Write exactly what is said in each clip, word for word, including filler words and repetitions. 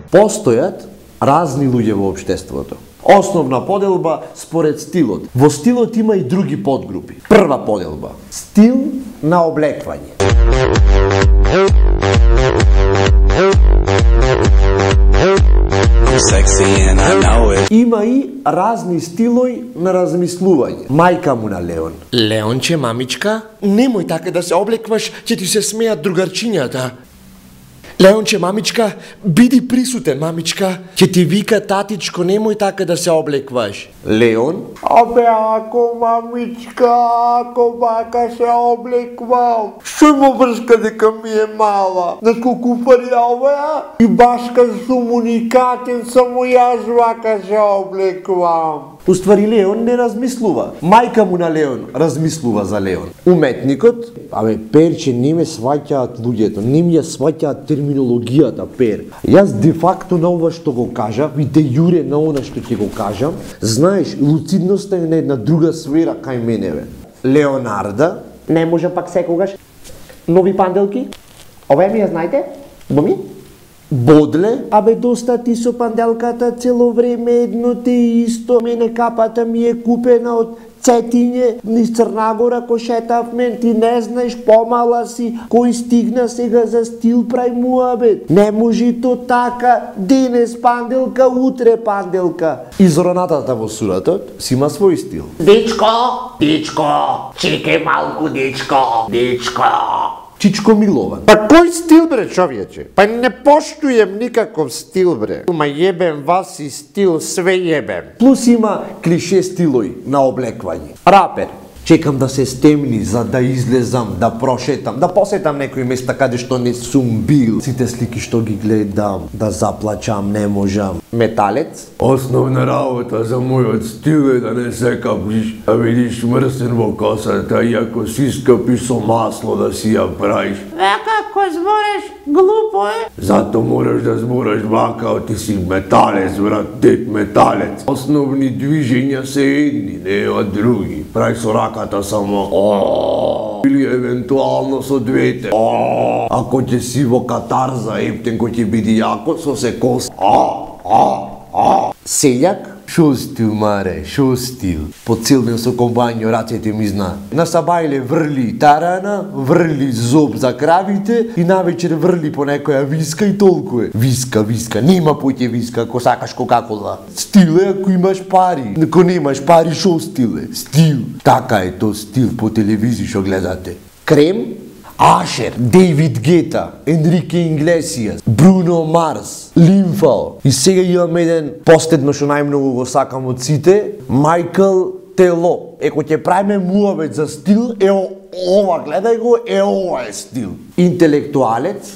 Постојат разни луѓе во општеството. Основна поделба според стилот. Во стилот има и други подгрупи. Прва поделба. Стил на облеквање. Има и разни стилои на размислување. Мајка му на Леон. Леонче, мамичка, немој така да се облекваш, ќе ти се смеат другарчињата. Леонче, мамичка, биди присутен, мамичка. Ќе ти вика татичко, немој така да се облекваш. Леон. Абе, ако мамичка, ако бака се облеквам, што има врска дека ми е мала? На колку пари оваа? И башка сум уникатен, само јас вака се облеквам. Уствари Леон не размислува. Мајка му на Леон размислува за Леон. Уметникот, абе Перче не ме сваќаат луѓето, не ми ја сваќаат терминологијата, Пер. Јас де факто на ова што го кажав и де јуре на она што ќе го кажам, знаеш, луцидноста е на една друга сфера кај мене, бе. Леонарда, не може пак секогаш. Нови панделки? Ове ми ја знаете? Боми? Бодле, абе доста ти со панделката цело време едно те исто. Мене капата ми е купена од Цетиње, низ Црнагора кој шетав мен, ти не знаеш, помала си, кој стигна сега за стил прај муабет. Не може то така, денес панделка, утре панделка. Изронатата во суратот си има свој стил. Дечко, дечко, чекај малку, дечко, дечко. Чичко Милован. Па кој стил, бре, човече? Па не поштуjem никаков стил, бре. Ма јебем вас и стил, све јебем. Плюс има клише стилои на облеквање. Рапер. Чекам да се стемни за да излезам, да прошетам, да посетам некои места каде што не сум бил. Сите слики што ги гледам, да заплачам, не можам. Металец. Основна работа за мојот стил е да не се капиш, да видиш мрсен во косата и ако си скапиш со масло да си ја правиш. Вака, кој збореш, глупо е. Зато мораш да збораш вака, ти си металец, брат, дед металец. Основни движења се едни, не од други. Прај со раката само о, или евентуално со двете. О, ако ќе си во катарза, ептен кој ќе биде јако со се кос. О, о, о. Селјак. Шо стил, маре, шо стил. По цел ден со комбањо рацете ми знаат. На сабајле врли тарана, врли зоб за кравите и навечер врли по некоја виска и толку е. Виска, виска, нема поќе виска ако сакаш Кока-кола. Стил е ако имаш пари. Ако немаш пари, шо стил е? Стил. Така е то стил по телевизија што гледате. Крем. Ашер, Дейвид Гета, Енрике Инглесијас, Бруно Марс, Лимфал. И сега имам еден последно што најмногу го сакам од сите, Майкл Тело. Еко ќе правиме муабет за стил, е ова, гледај го, е ова е стил. Интелектуалец.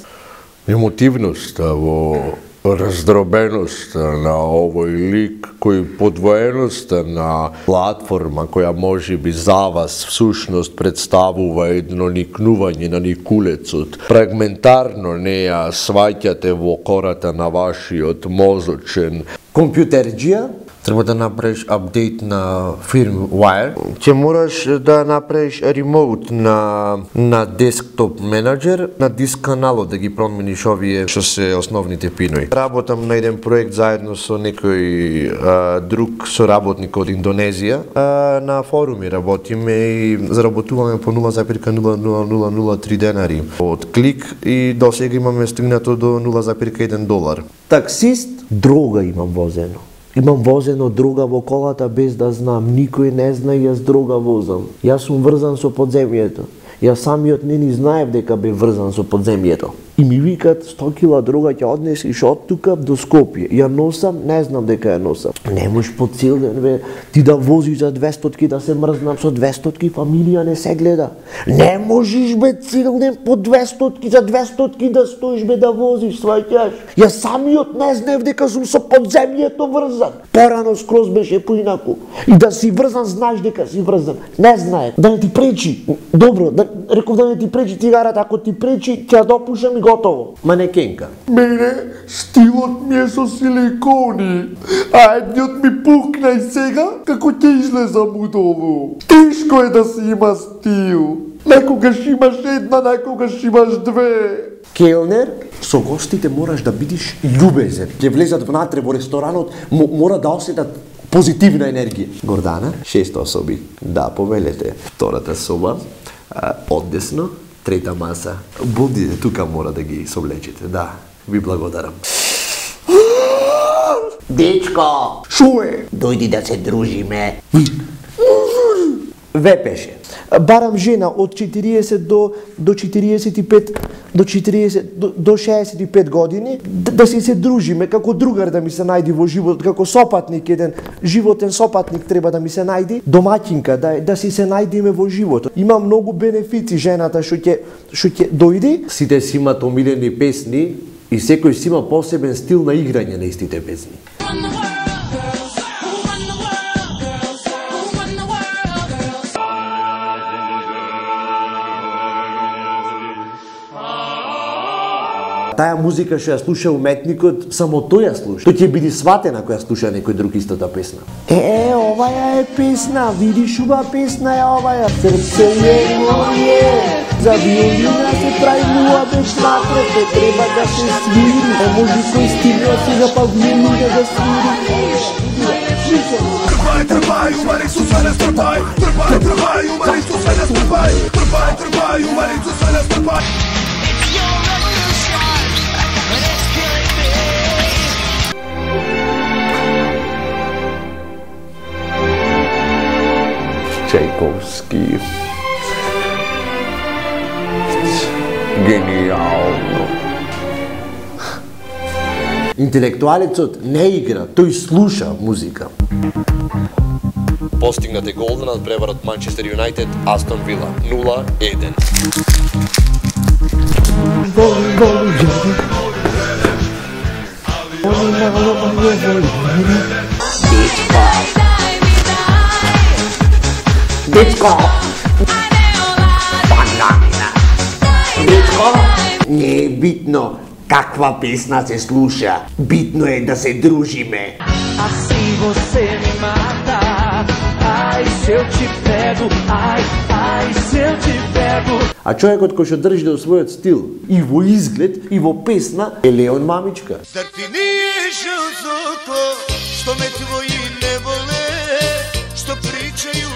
Емотивноста во раздробеноста на овој лик, кој подвоеноста на платформа која може би за вас всушност представува едно никнување на никулецот. Фрагментарно не ја сваќате во кората на вашиот мозочен. Компјутерџија. Треба да направиш апдейт на firmware. Ќе мораш да направиш ремоут на на десктоп менеджер, на диск каналот да ги промениш овие што се основните пинои. Работам на еден проект заедно со некој а, друг соработник од Индонезија. А, на форуми работиме и заработуваме по нула запирка нула нула нула нула три денари од клик и до сега имаме стигнато до нула запирка еден долар. Таксист. Дрога имам возено. Имам возено дрога во колата без да знам, никој не знае јас дрога возам. Јас сум врзан со подземјето. Јас самиот не ни знаев дека бе врзан со подземјето. И ми викат сто кила дрога ќе однесиш од тука до Скопје. Ја носам, не знам дека ја носам. Не можеш по цел ден бе ти да возиш за двестотки, да се мрзнам со двестотки, фамилија не се гледа. Не можеш бе цел ден по двестотки, за двестотки да стоиш бе да возиш, сваќаш. Јас самиот не знаев дека сум со подземјето врзан. Порано скроз беше поинаку. И да си врзан, знаеш дека си врзан. Не знае. Да не ти пречи. Добро, да, реков да не ти пречи цигарата, ако ти пречи, ќе ја допушам и готово. Манекенка. Мене стилот ми е со силикони, а едниот ми пукна и сега како ќе излезам од ово. Тешко е да си има стил. Некогаш имаш една, некогаш имаш две. келнер, со гостите мораш да бидиш љубезен. Ќе влезат внатре во ресторанот, мора да осетат позитивна енергија. Гордана, шест особи. Да, повелете. Втората соба, одесно, трета маса. Будите тука, мора да ги совлечете. Да, ви благодарам. Дечко, Шо е? дојди да се дружиме. Вепеше. Барам жена од четириесет до до четириесет и пет до четириесет до, до шеесет и пет години да, да си се дружиме како другар да ми се најди во живот, како сопатник, еден животен сопатник треба да ми се најди, домаќинка да да си се најдиме во животот. Има многу бенефици жената што ќе што ќе дојде. Сите си имаат омилени песни и секој си има посебен стил на играње на истите песни. Таа музика што ја слуша уметникот, само тој ја слуша. Тој ќе биде сватен ако ја слуша некој друг истата песна. Е, оваја е песна, видиш уба песна е оваја. Срце е моје, за виолина се прави муа без натре, те треба да се свири. Е, може кој стигна сега па виолина да свири. Трпај, трпај, умари со свене трпај. Трпај, трпај, умари со свене трпај. Трпај, трпај, умари со свене трпај. Чайковски. Гениално. Интелектуалецот не игра, тој слуша музика. Постигнат е гол на надпреварот Манчестер Юнайтед Астон Вила нула еден. Дечко, банана. Дечко, не е битно каква песна се слуша, битно е да се дружиме. Assim você me mata. Ai, se eu te pego. Ai, ai, se eu te pego. А човекот кој што држи до својот стил и во изглед и во песна е Леон Мамичка. Зар ти не е жал за тоа што ме твои не воле, што причају